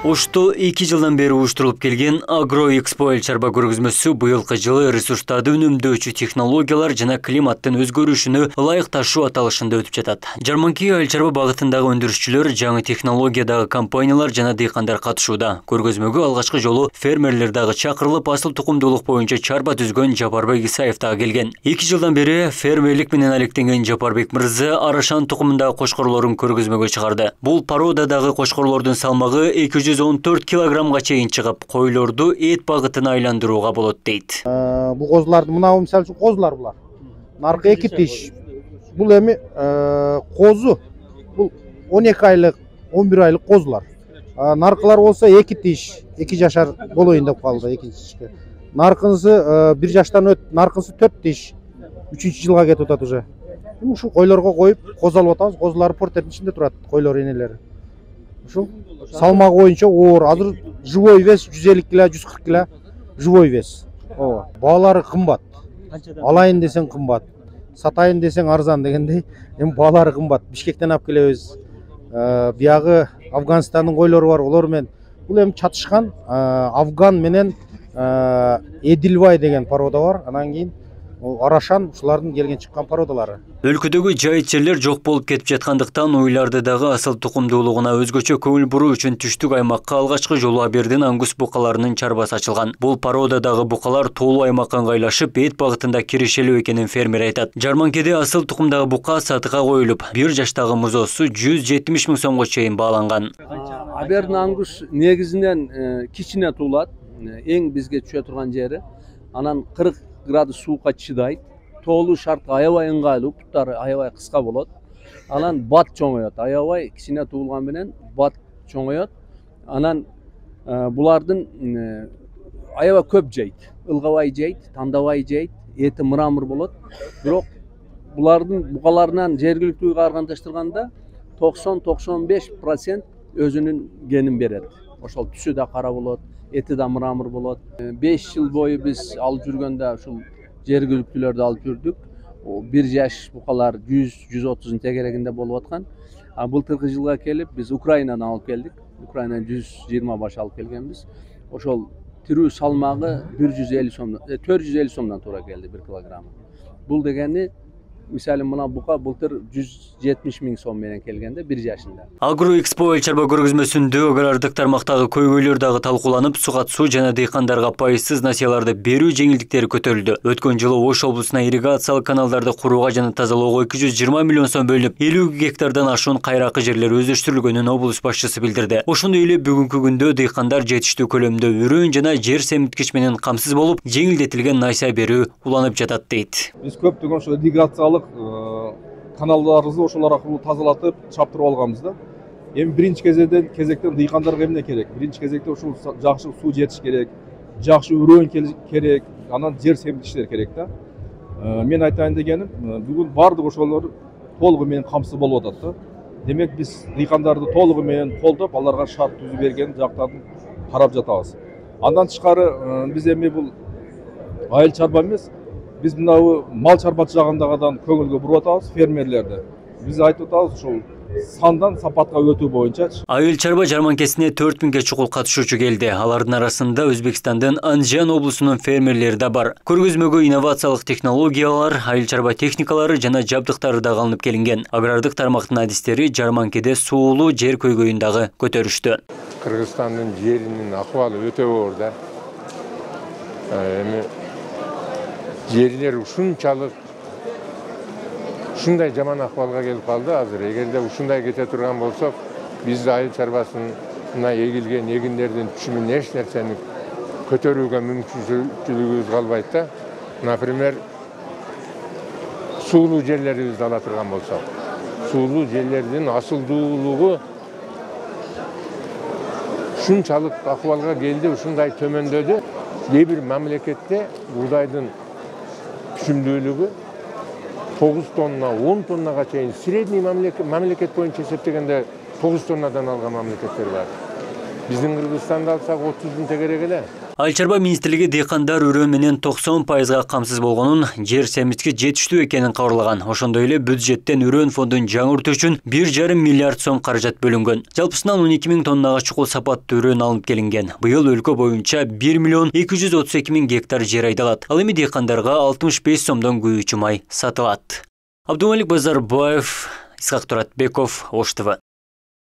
Ошто 2 жылдан бери уюштурулуп келген Агроэкспо эл чарба көргөзмөсү быйылкы жылы ресурстарды үнөмдөөчү технологиялар жана климаттын өзгөрүшүнө ылайыкташуу аталышында өтүп жатат. Жарманки эл чарба багытындагы өндүрүшчүлөр, жаңы технологиядагы компаниялар жана дыйкандар катышууда. Көргөзмөгө алгачкы жолу фермерлер дагы чакырылып, асыл тукумдуулук боюнча чарба түзгөн Жапарбек Исаев дагы келген. 2 жылдан бери фермерлик менен алектенген Жапарбек мырза Арашан тукумундагы кошкорлорун көргөзмөгө чыгарды. Бул породадагы кошкорлордун салмагы 214 килограммга чейин чыгып, койлорду эт багытына айландырууга болот дейт. Бул козуларды мына мисалы үчүн козулар булар. Наркы 2 тиш. Бул эми козу. Бул 12 айлык, 11 айлык козулар. Наркылар болсо 2 тиш, 2 жашар болоюн деп калды экинчи. Наркынысы 1 жаштан өтүп, наркынысы 4 тиш. 3-чү жылга кетип атат уже. Ушу койлорго коюп, козу алып атабыз. Козулар портердин ичинде турат, койлор энелери. Ушу салмагы боюнча оор. Азыр живой вес 150 кг, 140 кг живой вес. Ооба. Баалары кымбат. Алайын десең кымбат. Сатайын десең арзан дегендей, эми баалары кымбат. Бишкектен алып келебиз. Биягы Афганстандын койлору бар, олор менен бул эми чатышкан Афган менен Эдилбай деген порода бар. Анан кийин Арашан ушулардын келген чыккан породалары. Өлкөдөгү жайыт жерлер жок болуп кетип жаткандыктан уйларды дагы асыл тукумдуулугуна өзгөчө көңүл буруу үчүн түштүк аймакка алгачкы жолу Абердин ангус букаларынын чарбасы ачылган. Бул породадагы букалар тоолуу аймакка ыңгайлашып, эт багытында кирешелүү экенин фермер айтат. Жарманкеде асыл тукумдагы бука сатыга коюлуп, 1 жаштагы музоосу 170 000 сомго чейин бааланган. Абердин ангус негизинен кичине туулат, эң бизге түшө турган жери. Анан 40 градус суукка чыдайт. Тоолуу шартка аябай ыңгайлуу, буттары аябай кыска болот. Анан бат чоңоет. Аябай кичине туулган менен бат чоңоет. Анан булардын аябай көп жейт. Илгабай жейт, тандабай жейт, эти мрамор болот. Бирок булардын букаларынан жергиликтүүгө карагандаштырганда 90-95% өзүнүн генин берет. Ошол түсү да кара болот, эти да мрамор болот. 5 жыл бою биз алып жүргөндө ушул жергиликтүүлөрдү алып жүрдүк. 1 жаш букалар 100-130 тегерегинде болуп аткан. Былтыркы жылга келип биз Украинадан алып келдик. Украинадан 120 баш алып келгенбиз. Ошол тирүү салмагы 150 сомдон, 450 сомдон туура келди 1 килограмм. Бул дегени мисалы мына бука былтыр 170 000 сом менен келгенде 1 жашында. Агроэкспо эл чарба көргөзмөсүндө агрардык тармактагы көйгөйлөр дагы талкууланып, сугат-суу жана дыйкандарга пайызсыз насыяларды берүү жеңилдиктери көтөрүлдү. Өткөн жылы Ош облусуна ирригациялык каналдарды курууга жана тазалоого 220 миллион сом бөлүнүп, 50 гектардан ашуун кайракы жерлер өздөштүрүлгөнүн облус башчысы билдирди. Ошондой эле бүгүнкү күндө дыйкандар жетиштүү көлөмдө үрөөн жана жер семиткич менен камсыз болуп, жеңилдетилген насыя берүү уланып жатат дейт. Биз көптөгөн ошо ирригациялык каналдарыбызды ошолор аркылуу тазалатып, чаптырып алганбыз да. Эми биринчи кезектен дыйкандарга эмне керек? Биринчи кезекте ушул жакшы суу жетиш керек, жакшы үрөөн керек, анан жер семиткичтер керек да. Мен айтайын дегеним, бүгүн бардык ошолор толугу менен камсыз болуп атат да. Демек биз дыйкандарды толугу менен колдоп, аларга шарт түзүп берген жактарын карап жатабыз. Андан тышкары биз эми бул айыл чарба эмес, биз мынау мал чарбачы жагындагадан көңүлгө буруп атабыз фермерлерди. Биз айтып атабыз ушул сандан сапатка өтүү боюнча. Айыл чарба жарманкесине 4000ге чукул катышуучу келди. Алардын арасында Өзбекстандын Анжан облусунун фермерлери да бар. Көргөзмөгө инновациялык технологиялар, айыл чарба техникалары жана жабдыктары да алынып келинген. Агрардык тармактын адистери жарманкеде суулуу жер көйгөйүн дагы көтөрүштү. Кыргызстандын жеринин акыбалы өтө оор да. Эми жерлер ушунчалык ушундай жаман акыбалга келип калды азыр. Эгерде ушундай кете турган болсок, биз айыл чарбасына эгилген эгиндердин түшүмүн эч нерсени көтөрүүгө мүмкүнчүлүгүбүз калбайт да. Например, суулуу жерлерибизди ала турган болсок, суулуу жерлердин асылдуулугу ушунчалык акыбалга келди, ушундай төмөндөдү. Кээ бир мамлекетте буудайдын түшүмдүүлүгү 9 тонна, 10 тоннага чейин средний мамлекет боюнча эсептегенде 9 тоннадан алган мамлекеттер бар. Биздин Кыргызстанды алсак 30 тегерек эле. Айыл чарба министрлиги дыйкандар үрөө менен 90% камсыз болгонун, жер семизги жетиштүү экенин кабарлаган. Ошондой эле бюджеттен үрөө фондун жаңыртуу үчүн 1,5 миллиард сом каражат бөлүнгөн. Жалпысынан 12 000 тоннага чукул сапаттуу үрөө алынып келинген. Быйыл өлкө боюнча 1 232 000 гектар жер айдалат. Ал эми дыйкандарга 65 сомдон күйүүчү май сатылат. Абдумалик Базарбаев, Исхак Туратбеков, Ош ТВ.